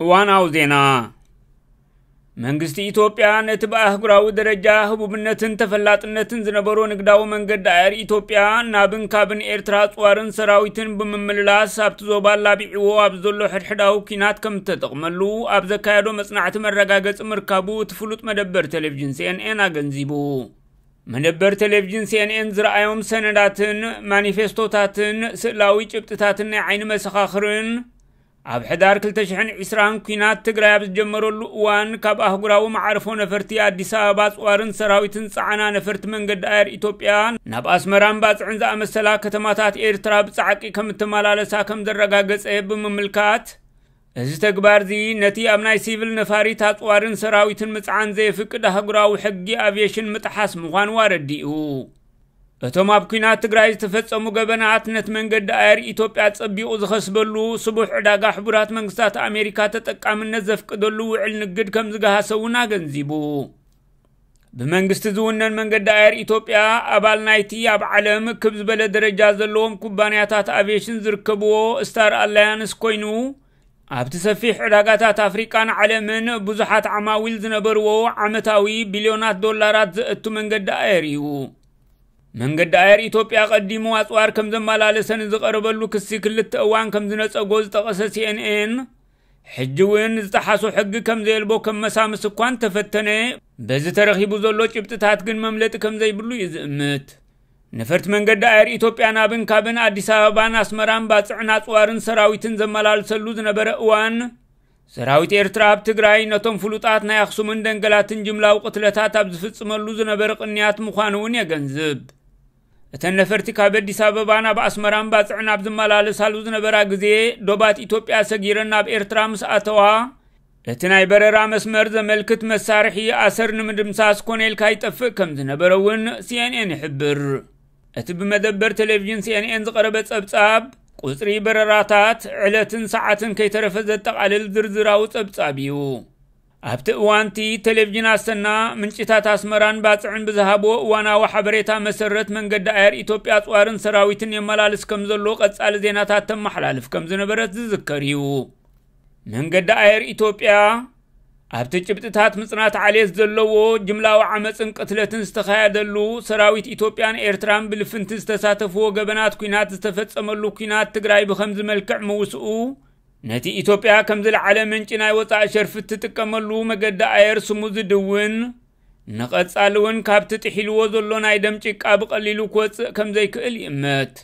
እዋናዊ ዜና። መንግስቲ ኢትዮጵያ ነቲ ብኣህጉራዊ ደረጃ ህቡብነትን ተፈላጥነትን ዝነበሮ ንግዳዊ መንገዲ ኣየር ኢትዮጵያ ናብን ካብን ኤርትራ ኣጽዋርን ሰራዊትን ብምምልላስ ኣብቲ ዞባ ኣላቢዕዎ ኣብ ዘሎ ሕድሕዳዊ ኲናት ከም እተጠቕመሉ ኣብ ዘካየዶ መጽናዕቲ መረጋገጺ ምርካቡ እቲ ፍሉጥ መደበር ቴሌቪዥን ሲኤንኤን ኣገንዚቡ። መደበር ቴሌቪዥን ሲኤንኤን ዝረኣዮም ሰነዳትን ማኒፌስቶታትን ስእላዊ ጭብጥታትን ናይ ዓይኒ መሰኻኽርን ኣብ ሕዳር ክልተ ሽሕን ዕስራን ኲናት ትግራይ ኣብ ዝጀመረሉ እዋን ካብ ኣህጉራዊ መዓርፎ ነፈርቲ ኣዲስ ኣበባ ኣጽዋርን ሰራዊትን ጸዓና ነፈርቲ መንገዲ ኣየር ኢትዮጵያ ናብ ኣስመራን ባጽዕን ዝኣመሰላ ከተማታት ኤርትራ ብጻዕቂ ከም እተመላለሳ ከም ዘረጋገጸ ብምምልካት፣ እዚ ተግባር እዚ ነቲ ኣብ ናይ ሲቪል ነፋሪት ኣጽዋርን ሰራዊትን ምጽዓን ዘየፍቅድ ኣህጉራዊ ሕጊ ኣቪየሽን ምጥሓስ ምዃኑ ኣረዲኡ። እቶም ኣብ ኲናት ትግራይ ዝተፈጸሙ ገበናት ነቲ መንገዲ ኣየር ኢትዮጵያ ጸቢቑ ዝኸስበሉ ስቡሕ ዕዳጋ ሕቡራት መንግስታት ኣሜሪካ ተጠቃምነት ዘፍቅደሉ ውዕል ንግድ ከም ዝገሃሰ እውን ኣገንዚቡ። ብመንግስቲ ዝውነን መንገዲ ኣየር ኢትዮጵያ ኣባል ናይቲ ኣብ ዓለም ክብ ዝበለ ደረጃ ዘለዎም ኩባንያታት ኣቪየሽን ዝርከብዎ ስታር ኣላያንስ ኮይኑ፣ ኣብቲ ሰፊሕ ዕዳጋታት ኣፍሪቃን ዓለምን ብዙሓት ዓማዊል ዝነበርዎ ዓመታዊ ቢልዮናት ዶላራት ዘእቱ መንገዲ ኣየር እዩ። መንገዲ ኣየር ኢትዮጵያ ቀዲሙ ኣጽዋር ከም ዘመላለሰ ንዝቐረበሉ ክሲ ክልተ እዋን ከም ዝነጸጎ ዝጠቐሰ ሲኤንኤን፣ ሕጂ እውን ዝጠሓሶ ሕጊ ከም ዘየልቦ ከም መሳምስ እኳ እንተፈተነ፣ በዚ ተረኺቡ ዘሎ ጭብጥታት ግን መምለጢ ከም ዘይብሉ እዩ ዝእምት። ነፈርቲ መንገዲ ኣየር ኢትዮጵያ ናብን ካብን ኣዲስ ኣበባን ኣስመራን ባጽዕን ኣጽዋርን ሰራዊትን ዘመላልሰሉ ዝነበረ እዋን፣ ሰራዊት ኤርትራ ኣብ ትግራይ ነቶም ፍሉጣት ናይ ኣኽሱምን ደንገላትን ጅምላዊ ቅትለታት ኣብ ዝፍጽመሉ ዝነበረ ቅንያት ምዃኑ እውን የገንዝብ። እተን ነፈርቲ ካብ ኣዲስ ኣበባ ናብ ኣስመራን ባጽዕን ኣብ ዝመላለሳሉ ዝነበራ ግዜ፣ ዶባት ኢትዮጵያ ሰጊረን ናብ ኤርትራ ምስ ኣተዋ፣ እቲ ናይ በረራ መስመር ዘመልክት መሳርሒ ኣሰር ንምድምሳስ ኮነ ኢልካ ይጠፍእ ከም ዝነበረ እውን ሲኤንኤን ይሕብር። እቲ ብመደበር ቴሌቪዥን ሲኤንኤን ዝቐረበ ጸብጻብ፣ ቁጽሪ በረራታት፣ ዕለትን ሰዓትን ከይተረፈ ዘጠቓልል ዝርዝራዊ ጸብጻብ እዩ። ኣብቲ እዋንቲ ቴሌቪዥን ኣሰና፣ ምንጭታት ኣስመራን ባጽዕን ብዝሃብዎ እዋናዊ ሓበሬታ መሰረት መንገዲ ኣየር ኢትዮጵያ ኣጽዋርን ሰራዊትን የመላልስ ከም ዘሎ ቀጻሊ ዜናታት ተመሓላልፍ ከም ዝነበረት ዝዝከር እዩ። መንገዲ ኣየር ኢትዮጵያ ኣብቲ ጭብጥታት ምጽናት ዓሌት ዘለዎ ጅምላዊ ዓመጽን ቅትለትን ዝተኻየደሉ፣ ሰራዊት ኢትዮጵያን ኤርትራን ብልፍንቲ ዝተሳተፍዎ ገበናት ኲናት ዝተፈጸመሉ ኲናት ትግራይ ብኸምዚ መልክዕ ምውስኡ፣ ነቲ ኢትዮጵያ ከም ዝለዓለ ምንጪ ናይ ወጻኢ ሸርፊ እትጥቀመሉ መገዲ ኣየር ስሙ ዝድውን፣ ንቐጻሊ እውን ካብቲ ጥሒልዎ ዘሎ ናይ ደም ጭቃ ብቐሊሉ ክወጽእ ከም ዘይክእል ይእመት።